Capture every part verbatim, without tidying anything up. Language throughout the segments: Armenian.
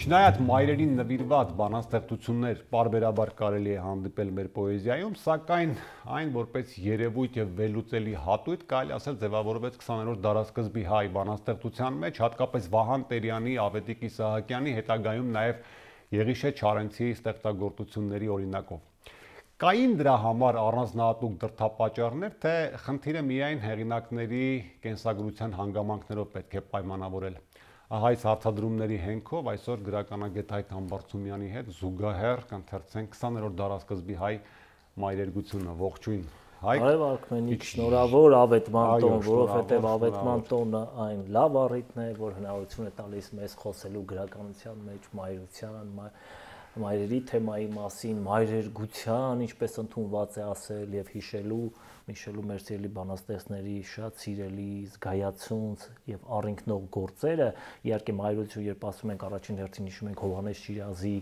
Չնայած մայրերին նվիրված բանաստեղծություններ պարբերաբար կարելի է հանդիպել մեր պոեզիայում, սակայն այն որպես երևույթ եւ վերլուծելի հատույթ կարելի ասել ձևավորվեց քսաներորդ դարաշրջանի հայ բանաստեղծության մեջ, հատկապես Վահան Տերյանի, Ավետիք Իսահակյանի, հետագայում նաեւ Եղիշե Չարենցի ստեղծագործությունների օրինակով։ Կային դրա համար առանձնահատուկ դրդապատճառներ, թե խնդիրը միայն հեղինակների կենսագրության հանգամանքներով պետք է պայմանավորել։ Ահա այս հարցադրումների հենքով այսօր գրականագետ Հայկ Համբարձումյանի հետ զուգահեռ կընթերցենք քսաներորդ դարաշրջանի հայ մայրերգությունը։ Ողջույն Հայկ։ Արև Արքմենիկ, շնորհավոր ավետման տոն, որովհետև ավետման տոնը այն լավ առիթն է, որ հնարավորություն է տալիս մեզ խոսելու գրականության մեջ մայրության, մայրերի թեմայի մասին, մայրերգության, ինչպես ընդունված է ասել, եւ հիշելու, հիշելու մեր սիրելի բանաստեղծների շատ սիրելի զգայացունց եւ առինքնող գործերը, իհարկե մայրություն, երբ ասում ենք առաջին հերթին հիշում ենք Հովհաննես Շիրազի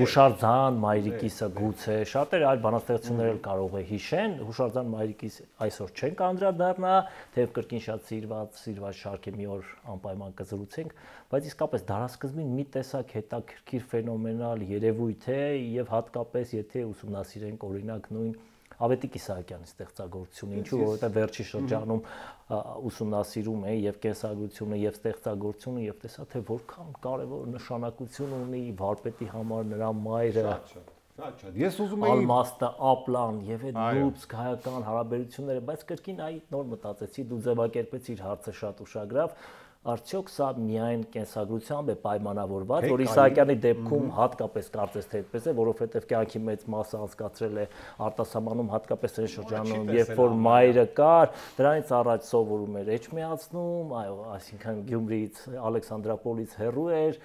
Հուշարձան մայրիկիսը գուցե, շատերը այլ բանաստեղծություններ էլ կարող է հիշեն, Հուշարձան մայրիկիս այսօր չենք անդրադառնա, թեև կրկին շատ սիրված, սիրված շարք է, մի օր անպայման կզրուցենք, բայց իսկապես դարաշրջանին մի տեսակ հետաքրքիր ֆենոմենալ երևույթ է եւ հատկապես եթե ուսումնասիրենք օրինակ նույն Ավետիք Իսահակյանի ստեղծագործությունը, ինչու որովհետև վերջի շրջանում ուսումնասիրում է եւ կենսագրությունը եւ ստեղծագործությունը եւ տեսա թե որքան կարեւոր նշանակություն ունի վարպետի համար նրա մայրը։ Ես ուզում եի Ալմաստը, Ապլան եւ այդ լուծք հայական հարաբերությունները, բայց կրկին այ նոր մտածեցի, դու ձևակերպեցիր հարցը շատ ուշագրավ։ Արդյոք սա միայն կենսագրությամբ է պայմանավորված, որ Իսահակյանի դեպքում հատկապես կարծես թե այդպես է, որովհետև կյանքի մեծ մասը անցկացրել է արտասահմանում, հատկապես այն շրջանում, երբ որ մայրը կար, դրանից առաջ սովորում էր Էջմիածնում, այո, այսինքն Գյումրիից, Ալեքսանդրապոլից հեռու էր,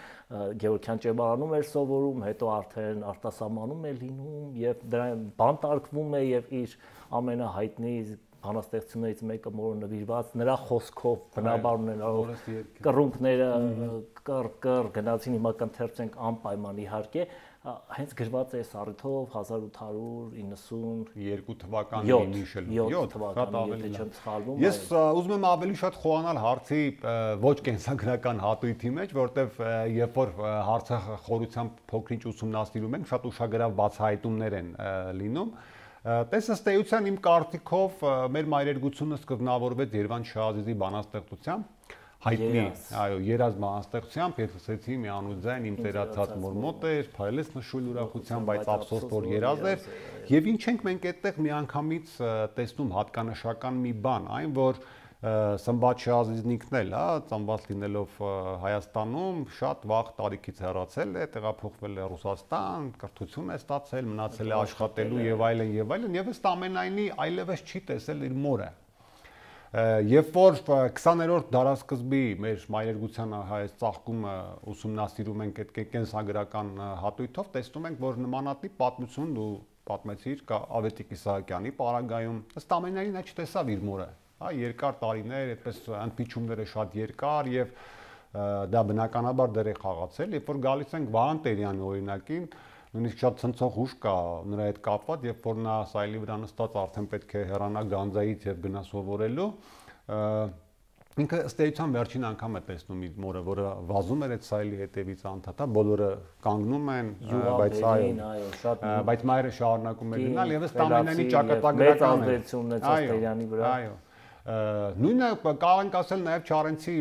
Գևորգյան ճեմարանում էր սովորում, հետո արդեն արտասահմանում է լինում եւ դրան բանտարկվում է եւ իր ամենահայտնի բանաստեղծություններից մեկը մորը նվիրված նրա խոսքով բնաբար ունենալով կռունկները կռ-կռ գնացին, հիմա կընթերցենք անպայման իհարկե, հենց գրված է առիթով հազար ութ հարյուր իննսունյոթ թվականի նիշելու յոթ թվականի, եթե չեմ սխալվում։ Ես ուզում եմ ավելի շատ խոհանալ հարցի ոչ կենսագրական հատույթի մեջ, որտեվ երբ որ հարցը խորությամբ փոքրինչ ուսումնասիրում ենք, շատ ուշագրավ բացահայտումներ են լինում։ Տես ըստ էության իմ կարծիքով մեր մայրերգությունը սկզբնավորվեց Երվանդ Շահազիզի բանաստեղծությամբ, հայտնի, այո, երազ բանաստեղծությամբ, ես ասեցի մի անուձայն իմ տերացած մոր մոտ էր, փայլես նշույլ ուրախությամբ, բայց ափսոս որ երազ էր, եւ ինչ ենք մենք այդտեղ միանգամից տեսնում հատկանշական մի բան, այն որ Սմբատ Շահազիզն ինքն էլ, հա, ծնված լինելով Հայաստանում, շատ վաղ տարիքից հեռացել է, տեղափոխվել է Ռուսաստան, կրթություն է ստացել, մնացել է աշխատելու եւ այլն եւ այլն, եւ ըստ ամենայնի այլևս չի տեսել իր մորը։ Երբ որ քսաներորդ դարաշրջանի մեր մայրերգության հայոց ծաղկումը ուսումնասիրում ենք այդ կենսագրական հատույթով, տեսնում ենք, որ նմանատիպ պատմություն դու պատմեցիր Ավետիք Իսահակյանի պարագայում, ըստ ամենայնի նա չտեսավ իր մորը։ Երկար տարիներ, այդպես ընդփիչումները շատ երկար եւ դա բնականաբար դեր է խաղացել, երբ որ գալիս ենք Վահան Տերյանի օրինակին, նույնիսկ շատ ցնցող ուժ կա նրա հետ կապված, երբ որ նա սայլի վրա նստած արդեն պետք է հեռանա Գանձայից եւ գնա սովորելու, ինքը ըստ էության վերջին անգամ է տեսնում իր մորը, որը վազում էր այդ սայլի հետևից անդադար, բոլորը կանգնում են, բայց այո, բայց մայրը շարունակում է գնալ եւ ըստ ամենայնի ճակատագրական է։ Տերյանի վրա։ Այո։ Նույնը կարող ենք ասել նաև Չարենցի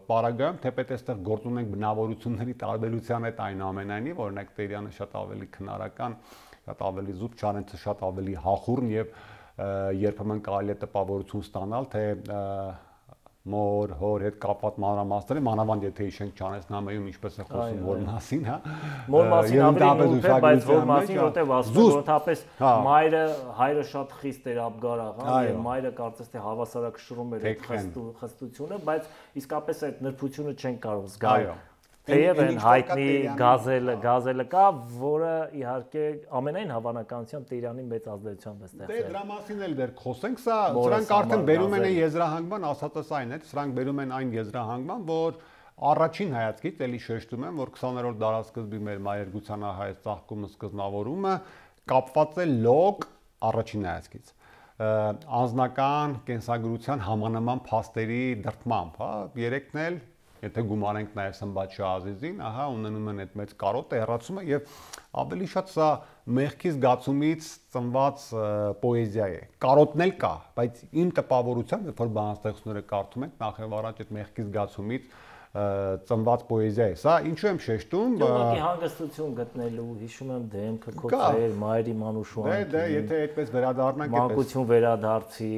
պարագայում, թեպետ այստեղ գործ ունենք բնավորությունների տարբերության հետ այնուամենայնիվ, օրինակ Տերյանը շատ ավելի քնարական, շատ ավելի զուտ, Չարենցը շատ ավելի հախուռն եւ երբեմն կարելի է տպավորություն ստանալ, թե մոր, հոր հետ կապված մանրամասները, մանավանդ եթե հիշենք Չարենցնամեում ինչպես է խոսում որ մասին, հա։ Մոր մասին ավելի նույնպես, բայց որ մասին որտեղ ասում են որթապես մայրը, հայրը շատ խիստ էր Աբգարաղան եւ մայրը կարծես թե հավասարակշռում էր այդ խստությունը, բայց իսկապես այդ նրբությունը չեն կարող զգալ։ Թեև են հայտնի գազելը, գազելը կա, որը իհարկե ամենայն հավանականությամբ Տերյանի մեծ ազդեցությամբ է ստեղծել։ Դե դրա մասին էլ դեռ խոսենք, սա սրանք արդեն բերում են եզրահանգման, ասածս այն է, սրանք բերում են այն եզրահանգման, որ առաջին հայացքից էլի շեշտում եմ, որ քսաներորդ դարաշրջանի մեր մայրերգության հայոց ծաղկումը սկզբնավորումը կապված է լոկ առաջին հայացքից անձնական կենսագրության համանման փաստերի դրդմամբ, հա, երեքն էլ եթե գումարենք նաև Սմբատ Շահազիզին, ահա ունենում են այդ մեծ կարոտը, հեռացումը եւ ավելի շատ սա մեղքի զգացումից ծնված պոեզիա է։ Կարոտն էլ կա, բայց իմ տպավորությամբ, երբ որ բանաստեղծությունները կարդում ենք, նախ եւ առաջ այդ մեղքի զգացումից ծնված պոեզիա է։ Սա ինչու եմ շեշտում։ Ուղղակի հանգստություն գտնելու, հիշում եմ դեմքը քո ծեր, մայրի Մանուշուանին։ Դե, դե, եթե այդպես վերադառնանք, մանկություն վերադարձի,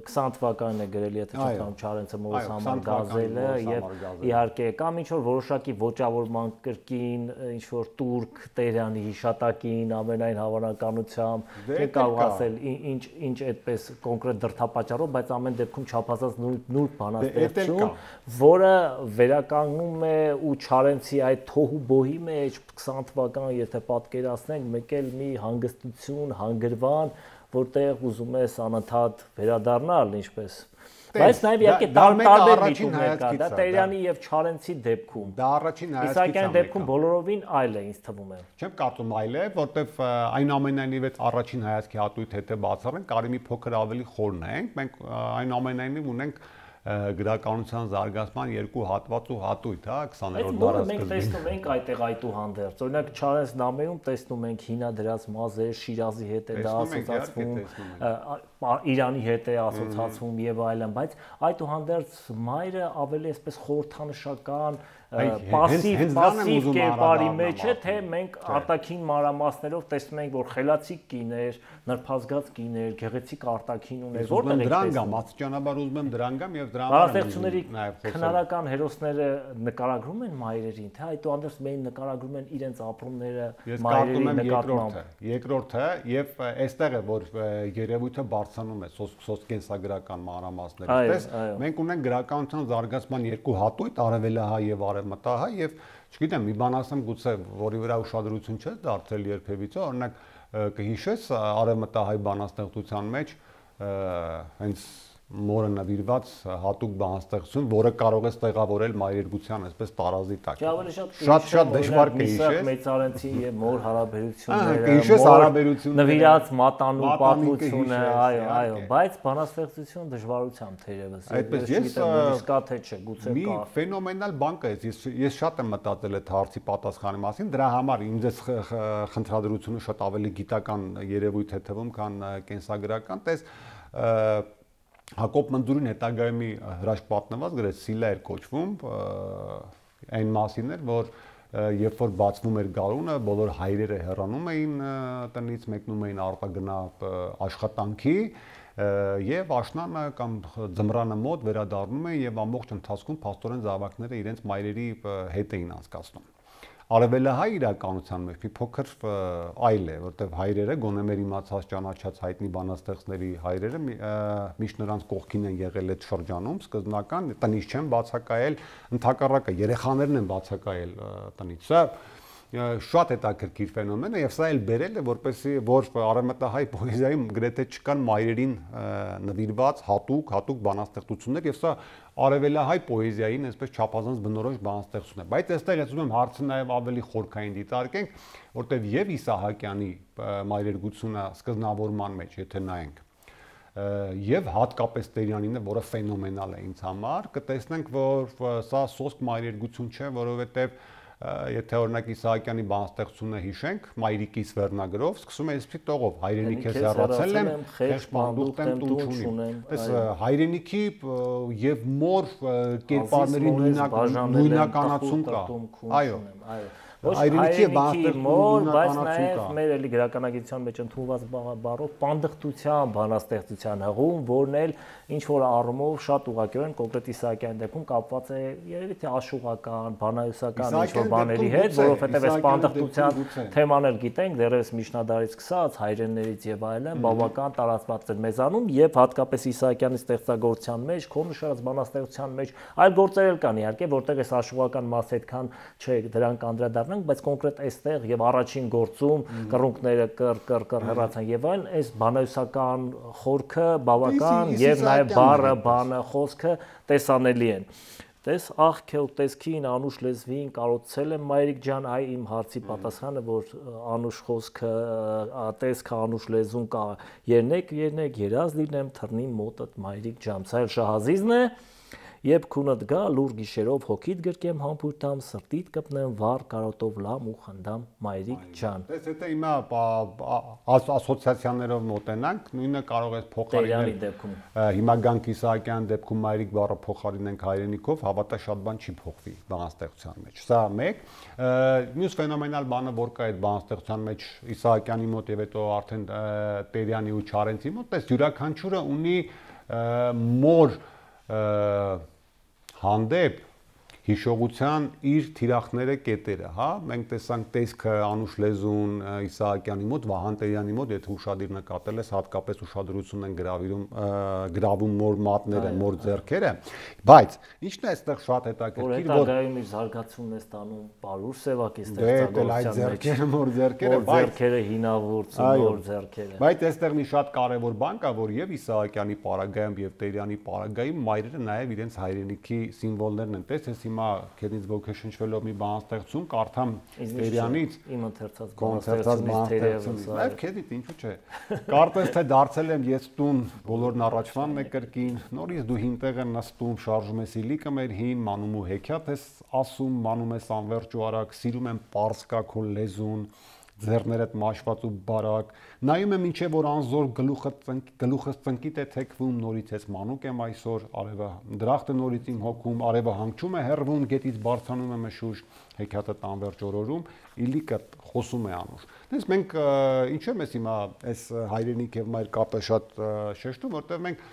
քսան թվականն է գրել, եթե չեմ Չարենցը Մորոս համար գազելը եւ իհարկե կամ ինչ որ որոշակի ոճավորման կրկին, ինչ որ տուրք Տերյանի հիշատակին ամենայն հավանականությամբ, չէ կարող ասել ինչ ինչ այդպես կոնկրետ դրդապատճառով, բայց ամեն դեպքում չափազանց նուրբ բանաստեղծություն, որը վերականգնում է ու Չարենցի այդ թոհու բոհի մեջ քսան թվական եթե պատկերացնենք մեկ էլ մի հանգստություն, հանգրվան, որտեղ ուզում ես անընդհատ վերադառնալ ինչպես բայց նաև իհարկե տարբեր միտումներ կա, դա Տերյանի եւ Չարենցի դեպքում։ Դա առաջին հայացքից է։ Իսահակյանի դեպքում բոլորովին այլ է, ինձ թվում է։ Չեմ կարծում այլ է, որտեվ այնուամենայնիվ այդ առաջին հայացքի հատույթ եթե բացառենք, կարի մի փոքր ավելի խորն ենք, մենք այնուամենայնիվ ունենք գրականության զարգացման երկու հատված ու հատույթ, հա, քսաներորդ դարաշրջանում։ Մենք տեսնում ենք այդտեղ այդուհանդերձ։ Օրինակ Չարենց նամերում տեսնում ենք հինադրած մազեր, Շիրազի հետ է դա ասոցացվում, Իրանի հետ է ասոցացվում եւ այլն, բայց այդուհանդերձ մայրը ավելի այսպես խորհրդանշական պասիվ պասիվ կերպարի մեջ է, թե մենք արտաքին մանրամասներով տեսնում ենք, որ խելացի կիներ, նրբազգաց կիներ, գեղեցիկ արտաքին ուներ, որտեղ է դրան գամ, աստիճանաբար ուզում եմ դրան գամ եւ դրան բանաստեղծությունների քնարական հերոսները նկարագրում են մայրերին, թե այդուհանդերձ մենք նկարագրում են իրենց ապրումները մայրերի նկատմամբ։ Երկրորդը եւ այստեղ է, որ երևույթը բարձրանում է սոցկենսագրական մանրամասներով։ Տես, մենք ունենք գրականության զարգացման երկու հատույթ, արևելահայ եւ արևմտահայ եւ չգիտեմ, մի բան ասեմ, գուցե որի վրա ուշադրություն չէ դարձրել երբևիցե, օրինակ կհիշես արևմտահայ բանաստեղծության մեջ հենց մորը նվիրված հատուկ բանաստեղծություն, որը կարող է տեղավորել մայրերգության այսպես տարազի տակ։ Շատ-շատ դժվար կհիշես Մեծարենցի եւ մոր հարաբերությունները, կհիշես հարաբերությունները, նվիրած մատանու պատմությունը, այո, այո, բայց բանաստեղծություն դժվարությամբ թերևս։ Այդպես ես կա թե չէ, գուցե կա։ Մի ֆենոմենալ բան կա, ես ես շատ եմ մտածել այդ հարցի պատասխանի մասին, դրա համար ինձ էս խնդրադրությունը շատ ավելի գիտական երևույթ է թվում, քան կենսագրական, տես Հակոբ Մնդուրին հետագայում մի հրաշք պատնված գրեց Սիլա էր կոչվում, այն մասին էր, որ երբ որ բացվում էր գարունը, բոլոր հայրերը հեռանում էին տնից, մեկնում էին արտագնա աշխատանքի եւ աշնանը կամ ձմռանը մոտ վերադառնում էին եւ ամբողջ ընթացքում փաստորեն զավակները իրենց մայրերի հետ էին անցկացնում։ Արևելահայ իրականության մեջ մի փոքր այլ է, որտեղ հայրերը գոնե մեր իմացած ճանաչած հայտնի բանաստեղծների հայրերը միշտ նրանց կողքին են եղել այդ շրջանում, սկզբնական տնից չեն բացակայել, ընդհակառակը երեխաներն են բացակայել տնից։ Սա շատ հետաքրքիր ֆենոմեն է եւ սա էլ բերել է, որպեսզի որ արևմտահայ պոեզիայում գրեթե չկան մայրերին նվիրված հատուկ հատուկ բանաստեղծություններ եւ սա արևելահայ պոեզիային այսպես չափազանց բնորոշ բանաստեղծություն է, բայց այստեղ ես ուզում եմ հարցը նաև ավելի խորքային դիտարկենք, որտեղ եւ Իսահակյանի մայրերգությունը սկզբնավորման մեջ, եթե նայենք, եւ հատկապես Տերյանինը, որը ֆենոմենալ է ինձ համար, կտեսնենք, որ սա սոսկ մայրերգություն չէ, որովհետեւ եթե օրինակ Իսահակյանի բանաստեղծությունը հիշենք, Մայրիկիս վերնագրով, սկսում է այսպես տողով, հայրենիք ես հեռացել եմ, խեղճ պանդուխտ եմ, տուն չունեմ։ Այս հայրենիքի եւ մոր կերպարների նույնականացում կա։ Այո, այո։ Հայրենիքի մոր, բայց նաև մեր էլի գրականագիտության մեջ ընդունված բառով պանդխտության բանաստեղծության հղում, որն էլ ինչ որ առումով շատ ուղղակիորեն կոնկրետ Իսահակյանի դեպքում կապված է երևի թե աշուղական, բանահյուսական ինչ որ բաների հետ, որովհետև այս պանդխտության թեման էլ գիտենք, դեռևս միջնադարից սկսած հայրեններից եւ այլն բավական տարածված էր մեզանում եւ հատկապես Իսահակյանի ստեղծագործության մեջ, քո նշած բանաստեղծության մեջ այլ գործեր էլ կան իհարկե, որտեղ այս աշուղական մասը այդքան չէ, դրանք անդրադառնանք, բայց կոնկրետ այստեղ եւ առաջին գործում կռունկները կր կր կր հեռացան եւ այլն, այս բանահյուսական խորքը բավական եւ նաեւ բառը, բանը, խոսքը տեսանելի են։ Տես աղքել տեսքին անուշ լեզվին կարոցել եմ Մայրիկ ջան, այ իմ հարցի պատասխանը, որ անուշ խոսքը, տեսքը անուշ լեզուն կա, երնեք, երնեք, երազ լինեմ թռնի մոտդ Մայրիկ ջան, սա էլ Շահազիզն է։ Երբ քունդ գա, լուր գիշերով հոգիդ գրկեմ համբուրտամ, սրտիդ կպնեմ վառ կարոտով լամ ու խնդամ մայրիկ ջան։ Դες եթե հիմա ասոցիացիաներով մոտենանք, նույնը կարող է փոխարինել դեպքում։ Հիմա Գանք Իսահակյան դեպքում մայրիկ բառը փոխարինենք հայրենիքով, հավատա շատ բան չի փոխվի բանաստեղծության մեջ։ Սա մեկ, մյուս ֆենոմենալ բանը, որ կա այդ բանաստեղծության մեջ Իսահակյանի մոտ եւ հետո արդեն Տերյանի ու Չարենցի մոտ, այս յուրաքանչյուրը ունի մոր հանդեպ հիշողության իր թիրախները կետերը, հա, մենք տեսանք տեսքը Անուշ Լեզուն Իսահակյանի մոտ, Վահան Տերյանի մոտ, եթե ուշադիր նկատել ես, հատկապես ուշադրություն են գրավիրում գրավում մոր մատները, մոր ձեռքերը, բայց ինչն է այստեղ շատ հետաքրքիր, որ հետագայում իր զարգացումն է ստանում Պարուր Սևակի ստեղծագործության մեջ, ձեռքերը հինավուրց, մոր ձեռքերը։ Բայց այստեղ մի շատ կարևոր բան կա, որ եւ Իսահակյանի պարագայում եւ Տերյանի պարագայում մայրերը նաեւ իրենց հայրենիքի սիմվոլներն են, տեսես հիմա քեզնից ոգեշնչվելով մի բանաստեղծում կարդամ Տերյանից իմ ընթերցած բանաստեղծությունից, նաև քեզից ինչու՞ չէ։ Կարծես թե դարձել եմ ես տուն, բոլորն առաջվանն է կրկին, նորից դու հինտեղ են նստում, շարժում ես իլիկը մեր հին, մանում ու հեքիաթ ես ասում, մանում ես անվերջ ու արագ, սիրում եմ պարսկա քո լեզուն, ձեռներդ մաշված ու բարակ, նայում եմ ինչե որ անզոր գլուխս ծնկիտ է թեքվում, նորից ես մանուկ եմ այսօր, արևը դրախտը նորից իմ հոգում, արևը հանգչում է հեռվում, գետից բարձրանում է մշուշ, հեքիաթը տանվերջ օրորում, իլիկը խոսում է Անուշ։ Դες մենք ինչու եմ ես հիմա այս հայրենիք եւ մայր կապը շատ շեշտում, որտեղ մենք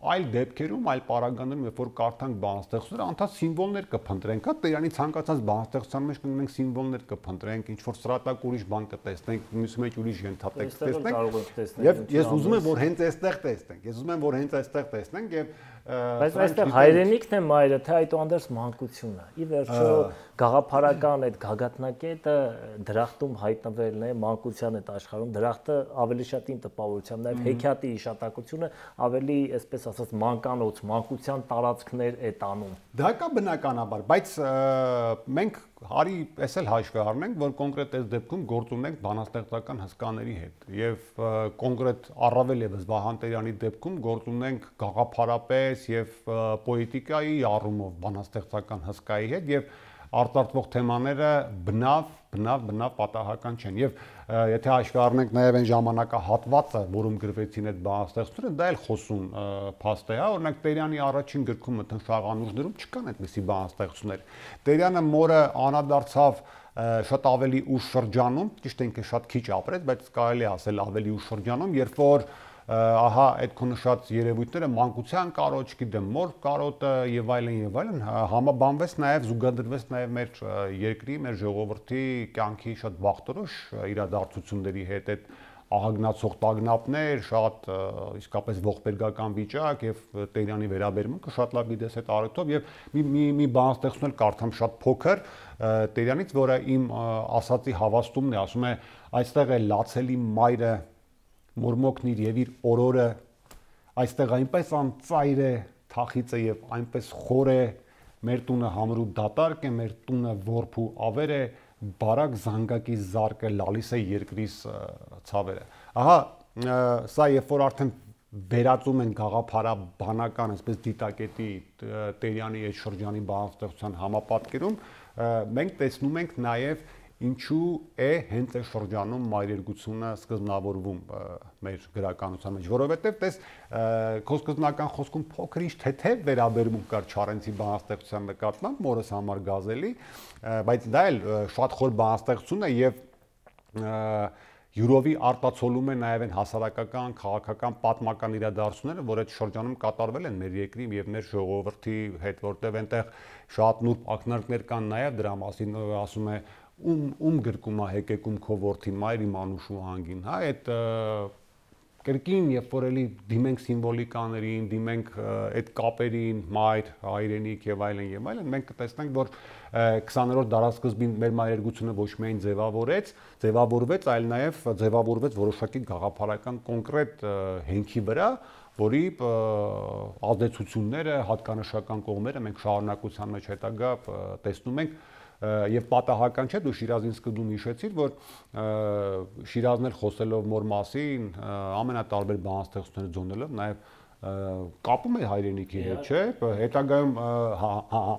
այլ դեպքերում, այլ պարագաներում, երբ որ կարդանք բանաստեղծությունները, անդադ սիմվոլներ կփնտրենք, հա, Տերյանի ցանկացած բանաստեղծության մեջ կունենք սիմվոլներ կփնտրենք, ինչ որ սրատակ ուրիշ բան կտեսնենք, մյուս մեջ ուրիշ ենթատեքստ տեսնենք։ Եվ ես ուզում եմ, որ հենց այստեղ տեսնենք։ Ես ուզում եմ, որ հենց այստեղ տեսնենք եւ բայց այստեղ հայրենիքն է մայրը, թե այդուհանդերձ մանկությունը։ Ի վերջո գաղափարական այդ գագաթնակետը դրախտում հայտնվելն է, մանկության այդ աշխարհում դրախտը ավելի շատ ին տպավորությամբ, նաև հեքիաթի իշտակությունը ավելի, այսպես ասած, մանկանոց, մանկության տարածքներ է տանում։ Դա կա բնականաբար, բայց մենք հարի էս էլ հաշվի առնենք, որ կոնկրետ այս դեպքում գործ ունենք բանաստեղծական հսկաների հետ եւ կոնկրետ առավել եւս Վահան Տերյանի դեպքում գործ ունենք գաղափարապես եւ պոետիկայի առումով բանաստեղծական հսկայի հետ եւ արտարտվող թեմաները բնավ, բնավ, բնավ պատահական չեն եւ եթե հաշվի առնենք նաեւ այն ժամանակահատվածը, որում գրվեցին այդ բանաստեղծությունները, դա էլ խոսուն փաստ է, հա, օրինակ Տերյանի առաջին գրքում Մթնշաղ Անուշներում չկան այդպիսի բանաստեղծություններ։ Տերյանը մորը անադարձավ շատ ավելի ուշ շրջանում, ճիշտ է ինքը շատ քիչ ապրեց, բայց կարելի է ասել ավելի ուշ շրջանում, երբ որ ահա այդ քո նշած երևույթները մանկության կարոջ, գիտեմ, մոր կարոտը եւ այլն եւ այլն համաբանվեց նաեւ զուգադրվեց նաեւ մեր երկրի, մեր ժողովրդի կյանքի շատ վաղտորոշ իրադարձությունների հետ, այդ ահագնացող տագնապներ, շատ իսկապես ողբերգական վիճակ եւ Տերյանի վերաբերմունքը շատ լավ գիտես այդ առիթով եւ մի մի մի բանաստեղծություն էլ կարդամ շատ փոքր Տերյանից, որը իմ ասացի հավաստումն է, ասում է այստեղ է լացելի մայրը մորմոքն իր եւ իր օրորը, այստեղ այնպես անծայր է թախիծը եւ այնպես խոր է, մեր տունը համրու դատարկ է, մեր տունը որբ ու ավեր է, բարակ զանգակի զարկը լալիս է երկրիս ցավերը։ Ահա սա երբ որ արդեն վերածում են գաղափարաբանական, այսպես դիտակետի Տերյանի այդ շրջանի բանաստեղծության համապատկերում, մենք տեսնում ենք նաեւ ինչու է հենց այս շրջանում մայրերգությունը սկզբնավորվում մեր գրականության մեջ, որովհետև տես քո սկզբնական խոսքում փոքր ինչ թեթև վերաբերմունք կար Չարենցի բանաստեղծության նկատմամբ, մորս համար գազելի, բայց դա էլ շատ խոր բանաստեղծություն է եւ յուրովի արտացոլում է նաև այն հասարակական, քաղաքական, պատմական իրադարձությունները, որ այդ շրջանում կատարվել են մեր երկրի եւ մեր ժողովրդի հետ, որտեղ այնտեղ շատ նուրբ ակնարկներ կան նաև դրա մասին, ասում է ում ում գրկում է հեկեկում քո որդին մայր իմ Անուշու հանգին, հա, այդ կրկին երբ որ էլի դիմենք սիմվոլիկաներին, դիմենք այդ կապերին, մայր, հայրենիք եւ այլն եւ այլն, մենք կտեսնենք, որ քսաներորդ դարաշրջանին մեր մայրերգությունը ոչ միայն ձևավորեց, ձևավորվեց, այլ նաեւ ձևավորվեց որոշակի գաղափարական կոնկրետ հենքի վրա, որի ազդեցությունները, հատկանշական կողմերը մենք շարունակության մեջ հետագա տեսնում ենք եւ պատահական չէ, դու Շիրազին սկզբում հիշեցիր, որ Շիրազն էլ խոսելով մոր մասին ամենատարբեր բանաստեղծություններ ձոնելով նաեւ կապում է հայրենիքի հետ, չէ՞։ Հետագայում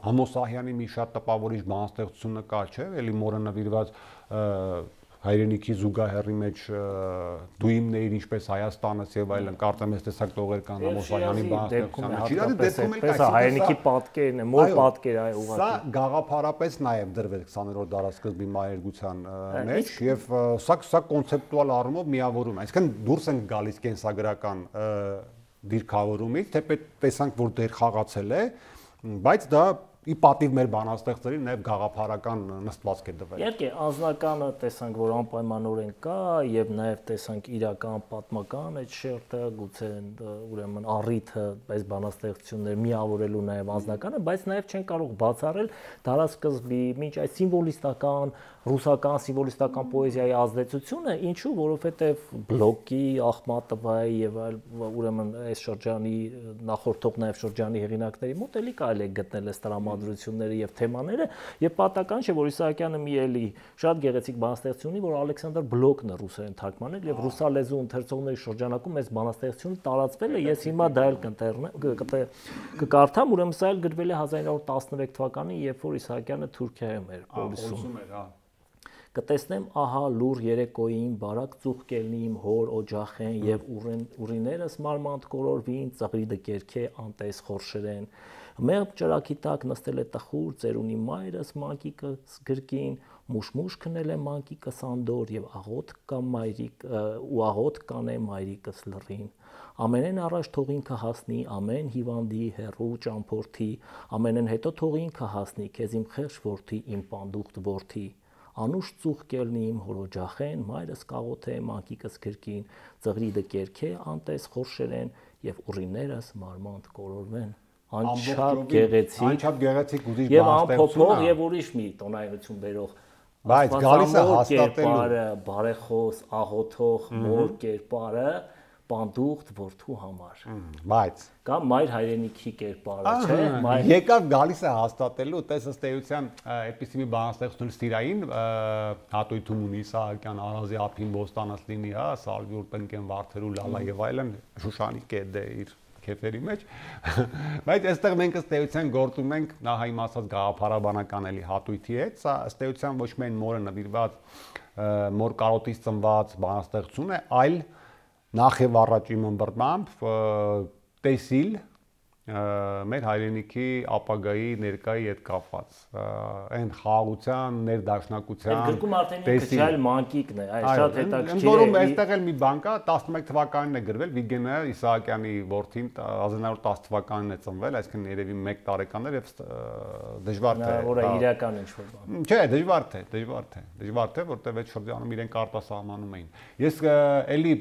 Համոսահյանի մի շատ տպավորիչ բանաստեղծությունը կար, չէ՞, էլի մորը նվիրված հայրենիքի զուգահեռի մեջ դույմն էր ինչպես Հայաստանս եւ այլն, կարծեմ ես տեսակ տողեր կան Համոսահյանի բանաստեղծությունը։ Շիրազի դեպքում էլ կայսի հայրենիքի պատկերն է, մոր պատկեր է ուղղակի։ Սա գաղափարապես նաեւ դրվել քսաներորդ դարաշրջանի մայրգության մեջ եւ սա սա կոնցեպտուալ առումով միավորում է։ Այսինքն դուրս են գալիս կենսագրական դիրքավորումից, թեպետ տեսանք որ դեր խաղացել է, բայց դա ի պատիվ մեր բանաստեղծերի նաև գաղափարական նստվածք է դվել։ Իհարկե, անձնականը տեսանք, որ անպայմանորեն կա եւ նաև տեսանք իրական պատմական այդ շերտը, գուցե ուրեմն առիթը այս բանաստեղծությունները միավորելու նաև անձնականը, բայց նաև չեն կարող բացառել դարաշրջի մինչ այս սիմվոլիստական, ռուսական սիմվոլիստական պոեզիայի ազդեցությունը, ինչու, որովհետեւ Բլոկի, Ախմատովայի եւ այլ ուրեմն այս շրջանի նախորդող նաև շրջանի հեղինակների մոտ էլի կարելի է գտնել այս տրամադրությունները եւ թեմաները եւ պատական չէ որ Իսահակյանը մի էլի շատ գեղեցիկ բանաստեղծություն ունի որ Ալեքսանդր Բլոկն է ռուսերեն թարգմանել եւ ռուսալեզու ընթերցողների շրջանակում այս բանաստեղծությունը տարածվել է ես հիմա դա էլ կկարդամ ուրեմն սա էլ գրվել է հազար ինը հարյուր տասնմեկ թվականին երբ որ Իսահակյանը Թուրքիայում էր Պոլիսում Կտեսնեմ ահա լուր երեկոյին բարակ ծուխկելնի իմ հոր օջախեն եւ ուրիներս մարմանդ կորորվին ծղրիդը կերքե անտես խորշերեն մեղմ ճրակի տակ նստել է տխուր ծերունի մայրս մանկիկը գրկին մուշմուշ քնել է մանկիկը սանդոր եւ աղոտ կամ մայրիկ ու աղոտ կանե մայրիկս լռին ամենեն առաջ թողին կհասնի ամեն հիվանդի հերու ճամփորդի ամենեն հետո թողին կհասնի քեզ իմ խեղճ որդի իմ պանդուխտ որդի Անուշ ծուխ կելնի իմ հորոջախեն, մայրս կաղոթե մանկիկս գրկին, ծղրիդը կերքե անտես խորշերեն եւ ուռիներս մարմանդ կորորվեն։ Անչափ գեղեցիկ, անչափ գեղեցիկ ուզիչ եւ անփոփոխ եւ ուրիշ մի տոնայնություն բերող։ Բայց գալիս է հաստատելու բարեխոս, աղոթող, մոր կերպարը պանդուխտ որդու համար։ Բայց կամ մայր հայրենիքի կերպարը, չէ՞։ Եկավ գալիս է հաստատելու, տես ըստ էության այդպիսի մի բանաստեղծություն ստիրային հատույթում ունի Իսահակյան Արազի ափին ոստանաց լինի, հա, Սալվյուր տնկեն վարդերու լալա եւ այլն Շուշանի կեդ է իր քեֆերի մեջ բայց այստեղ մենք ըստ էության գործում ենք նա հայ մասած գաղափարաբանական էլի հատույթի հետ սա ըստ էության ոչ միայն մորը նվիրված մոր կարոտից ծնված բանաստեղծություն է այլ Նախ եւ առաջ իմ ըմբռնմամբ տեսիլ մեր հայրենիքի ապագայի ներկայի հետ կապված այն խաղաղության ներդաշնակության Այդ գրքում արդեն քչալ մանկիկն է, այ շատ հետաքրքիր է։ Որում այստեղ էլ մի բան կա, տասնմեկ թվականին է գրվել, Վիգենը Իսահակյանի որդին հազար ինը հարյուր տասը թվականին է ծնվել, այսինքն երևի մեկ տարեկան էր եւ դժվար թե որը իրական ինչ-որ բան։ Չէ, դժվար թե, դժվար թե, դժվար թե, որտեղ այդ շրջանում իրենք արտասահմանում էին։ Ես էլի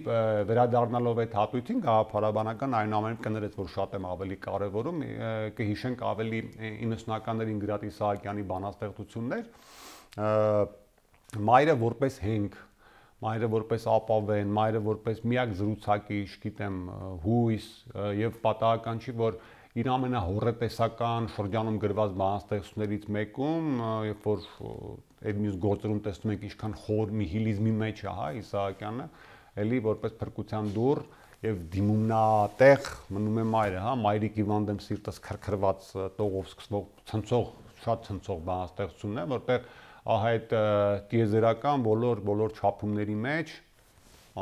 վերադառնալով այդ հատույթին գաղափարաբանական այնուամենայնիվ կներեց, որ շատ եմ ավելի կարևորում կհիշենք ավելի իննսունականներին գրած Իսահակյանի բանաստեղծություններ մայրը որպես հենք մայրը որպես ապավեն մայրը որպես միակ զրուցակիչ գիտեմ հույս եւ պատահական չի որ իր ամենահոռետեսական շրջանում գրված բանաստեղծություններից մեկում երբ որ այդ մյուս գործերում տեսնում ենք ինչքան խոր նիհիլիզմի մեջ է հա Իսահակյանը էլի որպես փրկության դուռ Եվ դիմումնատեղ մնում է մայրը, հա, մայրիկ իվանդեմ սիրտս քրքրված տողով սկսվող ցնցող, շատ ցնցող բանաստեղծությունն է, որտեղ ահա այդ տիեզերական բոլոր բոլոր չափումների մեջ,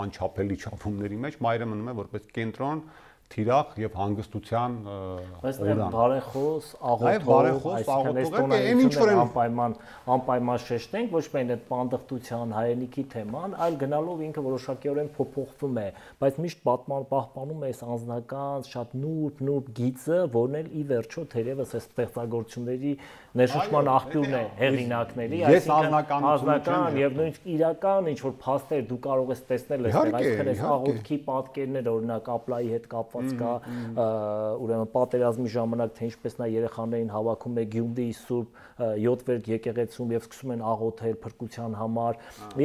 անչափելի չափումների մեջ մայրը մնում է որպես կենտրոն թիրախ եւ հանգստության օրան։ Բարեխոս, աղոթող, այսինքն այս տոնայնությունը անպայման անպայման շեշտենք, ոչ միայն այդ պանդխտության հայրենիքի թեման, այլ գնալով ինքը որոշակիորեն փոփոխվում է, բայց միշտ պատման պահպանում է այս անձնական, շատ նուրբ, նուրբ գիծը, որն էլ ի վերջո թերևս այս ստեղծագործությունների ներշնչման աղբյուրն է հեղինակների, այսինքն անձնական եւ նույնիսկ իրական ինչ որ փաստեր դու կարող ես տեսնել այստեղ, այսինքն այս աղոթքի պատկերներ, օրինակ Ապլայի հետ կապված կա ուրեմն պատերազմի ժամանակ թե ինչպես նա երեխաներին հավաքում է Գյումրիի Սուրբ յոթվերկ եկեղեցում եւ սկսում են աղոթել փրկության համար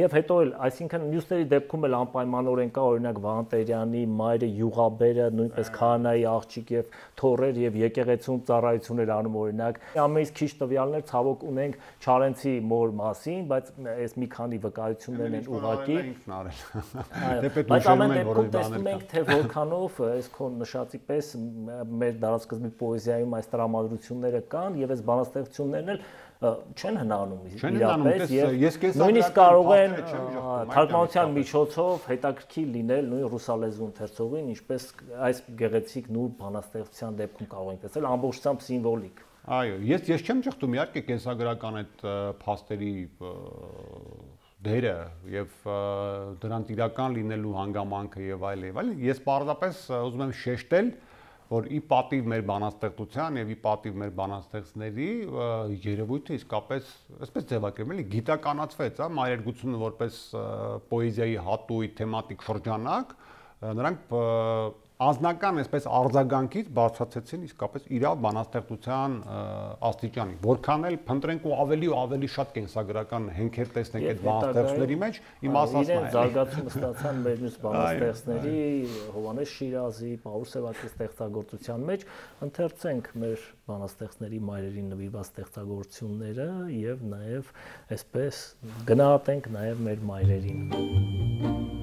եւ հետո էլ այսինքն մյուսների դեպքում էլ անպայմանորեն կա օրինակ Վահան Տերյանի մայրը Յուղաբերը նույնպես քահանայի աղջիկ եւ թորեր եւ եկեղեցում ծառայություն էր անում օրինակ ամենից քիչ տվյալներ ցավոք ունենք Չարենցի մոր մասին բայց այս մի քանի վկայություններն են ուղղակի բայց ամեն դեպքում տեսնում ենք թե որքանով այս քո քո նշածի պես մեր դարաշրջանի պոեզիայում այս տրամադրությունները կան եւ այս բանաստեղծություններն էլ չեն հնանում իրապես եւ նույնիսկ կարող են թարգմանության միջոցով հետաքրքիր լինել նույն ռուսալեզու ընթերցողին, ինչպես այս գեղեցիկ նուրբ բանաստեղծության դեպքում կարող ենք տեսնել ամբողջությամբ սիմվոլիկ։ Այո, ես ես չեմ ճխտում իհարկե կենսագրական այդ փաստերի դերը եւ դրանց իրական լինելու հանգամանքը եւ այլ եւ այլ։ Ես պարզապես ուզում եմ շեշտել, որ ի պատիվ մեր բանաստեղծության եւ ի պատիվ մեր բանաստեղծների երևույթը իսկապես այսպես ձևակերպել էլի գիտականացվեց, հա, մայրերգությունը որպես պոեզիայի հատույթ, թեմատիկ շրջանակ, նրանք անձնական այսպես արձագանքից բարձրացեցին իսկապես իրավ բանաստեղծության աստիճանի, որքան էլ փնտրենք ու ավելի ու ավելի շատ կենսագրական հենքեր տեսնենք այդ բանաստեղծների մեջ, իմ ասածն է։ Իրեն զարգացումը ստացան մեր մյուս բանաստեղծների, Հովհաննես Շիրազի, Պաուլ Սևակի ստեղծագործության մեջ, ընթերցենք մեր բանաստեղծների մայրերին նվիրված ստեղծագործությունները եւ նաեւ այսպես գնահատենք նաեւ մեր մայրերին։